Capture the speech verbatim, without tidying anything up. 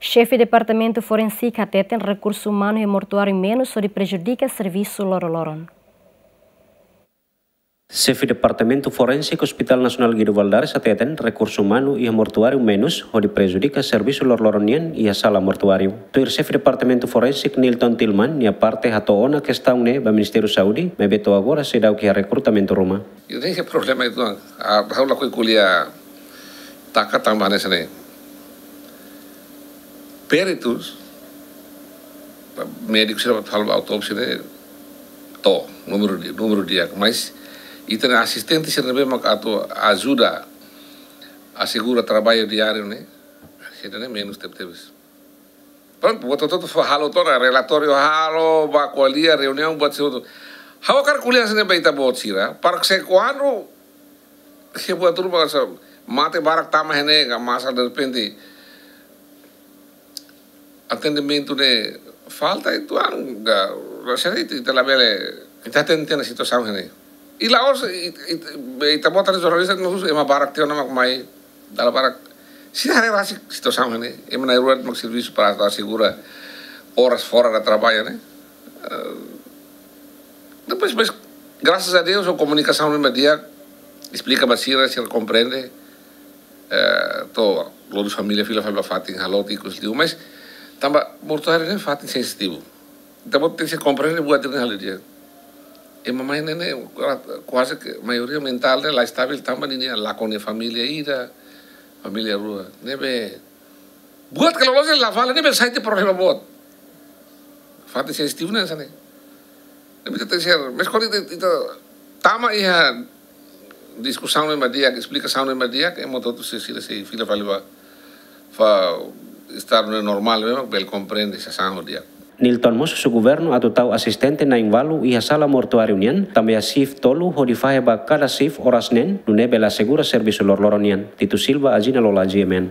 Xefe Departamentu Forénsika hateten rekursu umanu iha mortuáriu menus hodi prejudika servisu loroloron. Xefe Departamentu Forénsika Hospital Nasionál Guido Valadares hateten rekursu umanu iha mortuáriu menus hodi prejudika servisu loroloron nian iha sala mortuáriu. Tuir Xefe Departamentu Forénsika Nilton Tilman nia parte hato'o ona kestaun ne'e ba Ministériu Saúde, maibé to'o agora seidauk iha rekrutamentu ruma. Ida-ne'e problema uitoan, ah, ha'u lakohi ko'alia taka tanba hanesan ne'e. Peritus, médiku sira atu halo autópsia ne'e to'o, númeru di, númeru di'ak, mas ita-nia asistente sira ne'ebé mak atu ajuda asegura traballu diáriu ne'e, sira-ne'e menus tebetebes. Prontu, buat hotu-hotu fó halo tiha ona, relatóriu halo, bá ko'alia, reuniaun, buat hotu-hotu. Ha'u hakarak ko'alia hanesan ne'e ba ita-boot sira, para que se kuandu, se buat hotu-hotu mak hanesan, mate barak tama iha ne'e, ka masa derrepente atendimentu ne'e falta uitoan, ka, rasanya itu, ita labele, ita hatene ona situasaun iha ne'e. I la'ós, i, i, ita-boot jornalista, no ema barak tiha ona mak mai, dala barak. Sira haree rasik situasaun iha ne'e, ema na'in-rua de'it mak servisu para asegura horas fora do trabalho, né? Eh, depois, mas, graças a Deus, ho komunikasaun ne'ebé di'ak, esplika ba sira, sira komprende, eh, to'o lori família fila fali ba fatin halo tiha ikus liu, mas tanba mortuáriu ne'e fatin sensitivu. Ita-boot tenke komprende buat ne'e halo di'ak. Ema mai ne'e ne'e, kuaze ke maioria mentál ne'e la estabil tanba ninia lakon família ida, família rua. Ne'ebé buat ke loloos la fala, ne'ebé sai tiha problema boot. Fatin sensitivu ne'e hanesan ne'e. Ne'ebé ita tenke ser, mas kuandu ita, ita tama iha diskusaun ne'ebé di'ak, esplikasaun ne'ebé di'ak, ema hotu-hotu sei, sei, sei fila fali ba, ba estadu ne'e normál, memang bele komprende sasán ho di'ak. Nilton mós husu governu atu tau asistente na'in-ualu iha sala mortuáriu nian, tanba iha shift tolu hodi fahe ba kada shift oras neen, nune'e bele asegura servisu loroloron nian. Tito Silva, Agina Lola, G M N.